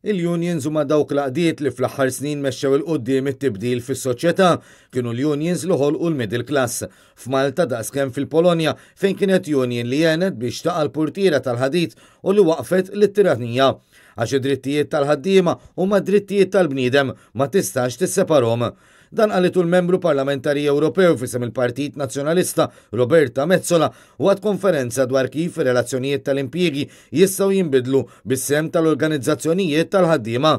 Il-unions huma dawk l-għaqdiet li fl-aħħar snin mexxew 'il quddiem it-tibdil fis-soċjetà. Kienu l-unions li ħolqu l-middle class. F'Malta daqskemm fil-Polonja fejn kienet union li għenet biex taqa' l-purtiera tal-ħadid u li waqqfet lit-tiranija. Għax id-drittijiet tal-ħaddiema huma drittijiet tal-bniedem, ma tistax tisseparhom. Dan qalitu l-Membru Parlamentari Ewropew f'isem il-Partit Nazzjonalista Roberta Metsola waqt konferenza dwar kif ir-relazzjonijiet tal-impjiegi jistgħu jinbidlu bis-sehem tal-organizzazzjonijiet tal-ħaddiema.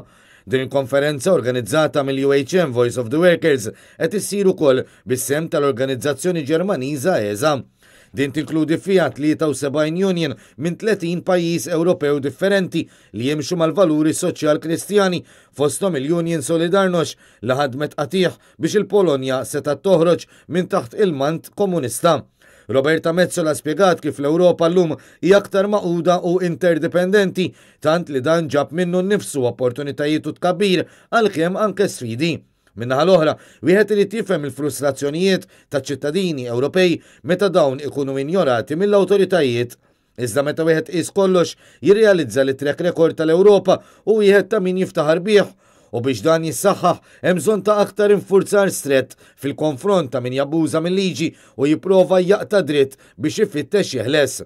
Din il-konferenza organizzata mill-UHM Voice of the Workers qed issir ukoll bis-sehem tal-organizzazzjoni Ġermaniża ESA. Din tinkludi fiha 73 union minn 30 pajjiż Ewropew differenti li jimxu mal-valuri soċjal-Kristjani, fosthom il-Union Solidarność li ħadmet qatigħ biex il-Polonja setgħet toħroġ minn taħt il-mant komunista. Roberta Metsola spjegat kif l-Ewropa llum hija aktar magħquda u interdipendenti, tant li dan ġab minnu nnifsu opportunitajiet u tkabbir għalkemm anke sfidi. Min-naħa l-oħra, wieħed irid jifhem il-frustrazzjonijiet taċ-ċittadini Ewropej meta dawn ikunu injorati mill-awtoritajiet. Iżda meta wieħed iqis kollox, jirrealizza li t-track record tal-Ewropa hu wieħed ta' min jiftaħar bih. U biex dan jissaħħaħ, hemm bżonn ta' aktar infurzar strett fil-konfront ta' min jabbuża mil-liġi u jipprova jaqta' dritt biex ifittex jeħles.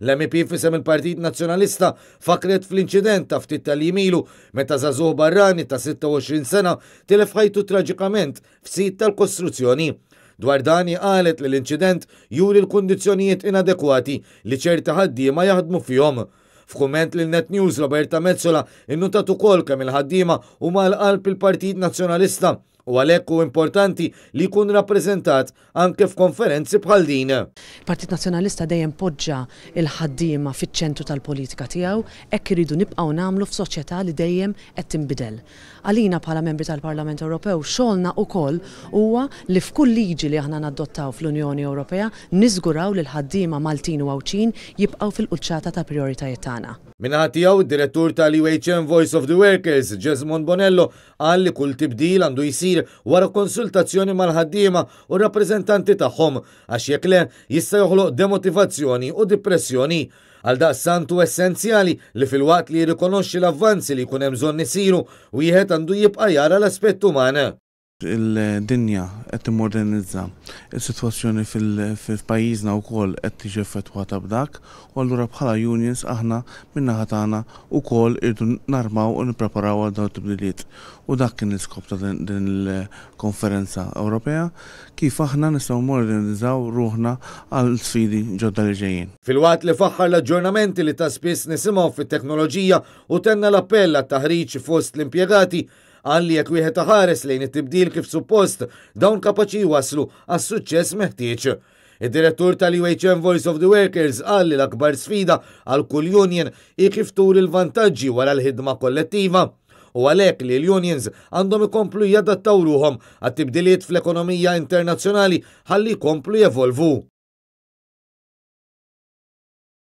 L-MEP f'isem il-Partit Nazzjonalista fakkret fl-inċident ta' ftit tal-jiem ilu meta żagħżugħ barrani ta' 26 sena tilef ħajtu traġikament f'sit tal-kostruzzjoni. Dwar dan hi qalet li l-inċident juri l-kundizzjonijiet inadekwati li ċerti ħaddiema jaħdmu fihom. F'kumment lil Net News Roberta Metsola innutat ukoll kemm il-ħaddiema huma għal qalb il-Partit Nazzjonalista u għalhekk hu importanti li jkun rappreżentat anke f'konferenzi bħal din. Il-Partit Nazzjonalista dejjem poġġa l-ħaddiema fiċ-ċentru tal-politika tiegħu, hekk irridu nibqgħu nagħmlu f'soċjetà li dejjem qed tinbidel. Għalina bħala membri tal-Parlament Ewropew xogħolna ukoll huwa li f'kull liġi li aħna nadottaw fl-Unjoni Ewropea niżguraw li l-ħaddiema Maltin u Għawdxin jibqgħu fil-quċċata tal-prijoritajiet tagħna. Min-naħa tiegħu, id-Direttur tal-UHM Voice of the Workers, Jesmond Bonello, qal li kull tibdil għandu jsir wara konsultazzjoni mal-ħaddiema u r-rappreżentanti tagħhom għax jekk le jista' joħloq demotivazzjoni u dipressjoni. Għaldaqstant hu essenzjali li filwaqt li jirrikonoxxi l-avvanzi li jkun hemm bżonn isiru, wieħed għandu jibqa' jara l-aspett uman. Il-dinja qed timmodernizza. Is-sitwazzjoni fil-pajjiżna wkoll qed tiġi effettwata b'dak u allura bħala unions aħna min-naħa tagħna wkoll irridu narmaw u nippreparaw għal dawn it-tibdiliet. U dak kien l-iskop ta' din il-konferenza Ewropea, kif aħna nistgħu mmodernizzaw ruħna għal sfidi ġodda li ġejjin. Filwaqt li faħħar l-aġġornamenti li ta' spiss nisimgħu fit-teknoloġija u tenna l-appell għat-taħriġ fost l-impjegati, qal li jekk wieħed iħares lejn it-tibdil kif suppost, dawn kapaċi jwasslu għas-suċċess meħtieġ. Id-direttur tal-UHM Voice of the Workers qal li l-akbar sfida għal kull union hi kif turi l-vantaġġi wara l-ħidma kollettiva. U għalhekk li l-unions għandhom ikomplu jadattaw ruħhom għat-tibdiliet fl-ekonomija internazzjonali ħalli jkomplu jevolvu.